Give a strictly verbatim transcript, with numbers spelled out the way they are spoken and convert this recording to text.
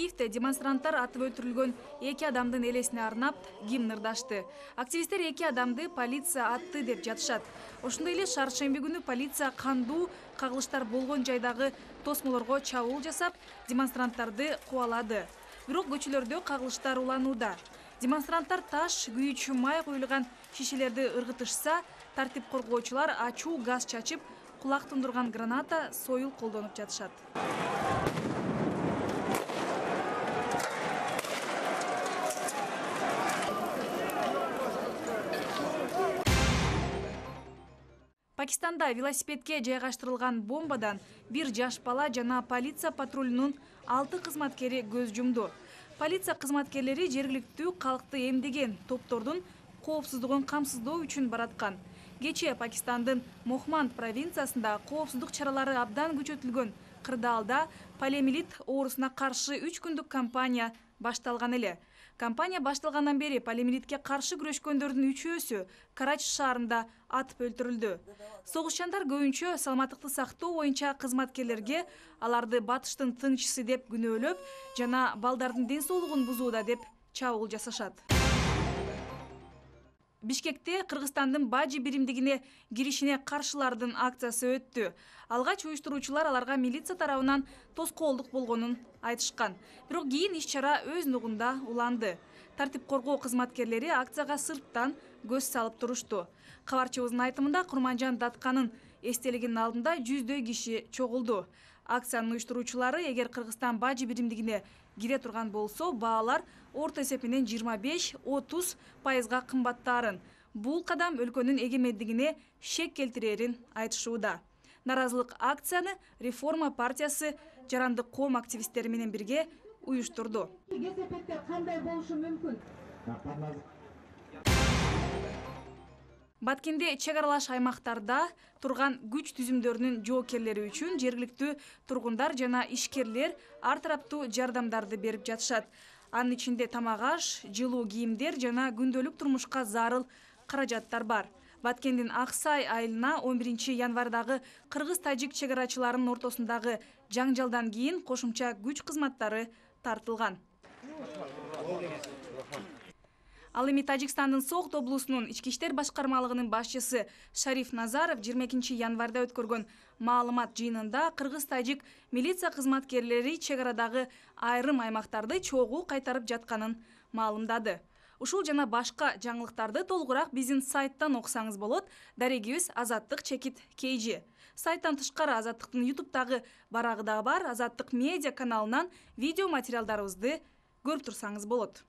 Киевде демонстранттар атып өлтүрүлгөн эки адамдын элесине арнап гимн ырдашты. Активисттер эки адамды полиция атты деп жатышат. Ошондой эле шаршемби күнү полиция кандуу кагылыштар болгон жайдагы тосмолорго чабуул жасап, демонстранттарды кубалады. Бирок көчөлөрдө кагылыштар уланууда. Демонстранттар таш, күйүүчү май коюлган шишелерди ыргытышса, тартип коргоочулар ачуу газ чачып, кулак тундурган граната, союл колдонуп жатышат. Пакистанда велосипедке жайгаштырылган бомбадан бир жаш бала жана полиция патрулунун алты кызматкери көз жумду. Полиция кызматкерлери жергиликтүү калкты эмдеген топтордун коопсуздугун камсыздоо үчүн бараткан. Кечээ Пакистандын Мохманд провинциясында коопсуздук чаралары абдан күчөтүлгөн кырдаалда полиомиелит оорусуна каршы үч күндүк кампания башталган эле. Кампания башталгандан бери полиомиелитке каршы күрөшкөндөрдүн үчөөсү Карачи шаарында атып өлтүрүлдү. Согушчандар көбүнчө саламаттыкты сактоо боюнча кызматкерлерге аларды батыштын тыңчысы деп күнөөлөп жана балдардын ден соолугун бузууда деп чабуул жасашат. Бишкекте Кыргызстандын Бажи биримдигине киришине каршылардын акциясы өттү. Алгач уюштуруучулар аларга милиция тарабынан тоскоолдук болгонун айтышкан. Бирок кийин иш-чара өз нугунда уланды. Тартип коргоо кызматкерлери акцияга сырттан көз салып турушту. Кабарчыбыздын айтымында Курманжан Датканын эстелигинин алдында жүздөй киши чогулду. Акциянын уюштуруучулары эгер Кыргызстан Бажи биримдигине кире турган болсо, баалар орто эсеп менен жыйырма беш — отуз пайызга кымбаттаарын. Бул кадам өлкөнүн эгемендигине шек келтирерин айтышууда. Наразылык акцияны Реформа партиясы жарандык коом активисттери менен бирге уюштурду. Кесепеттер кандай болушу мүмкүн? Баткенде чек аралаш аймактарда турган күч түзүмдөрүнүн жоокерлери үчүн жергиликтүү тургундар жана ишкерлер ар тараптуу жардамдарды берип жатышат. Анын ичинде тамак аш, жылуу кийимдер жана күндөлүк турмушка зарыл каражаттар бар. Баткендин Аксай айылына он биринчи январдагы кыргыз-тажик чек арачыларынын ортосундагы жаңжалдан кийин кошумча күч кызматтары тартылган. Ал эми Тажикстандын Согд облусунун ички иштер башкармалыгынын башчысы Шариф Назаров жыйырма экинчи январда өткөргөн маалымат жыйынында кыргыз-тажик милиция кызматкерлери чек арадагы айрым аймактарды чогуу кайтарып жатканын маалымдады. Ушул жана башка жаңылыктарды толугураак биздин сайттан окусаңыз болот. Дарегибиз Азаттык чекит Кейжи. Сайттан тышкары Азаттыктын ютубтагы барагы да бар. Азаттык медиа каналынан видео материалдарыбызды көрүп турсаңыз болот.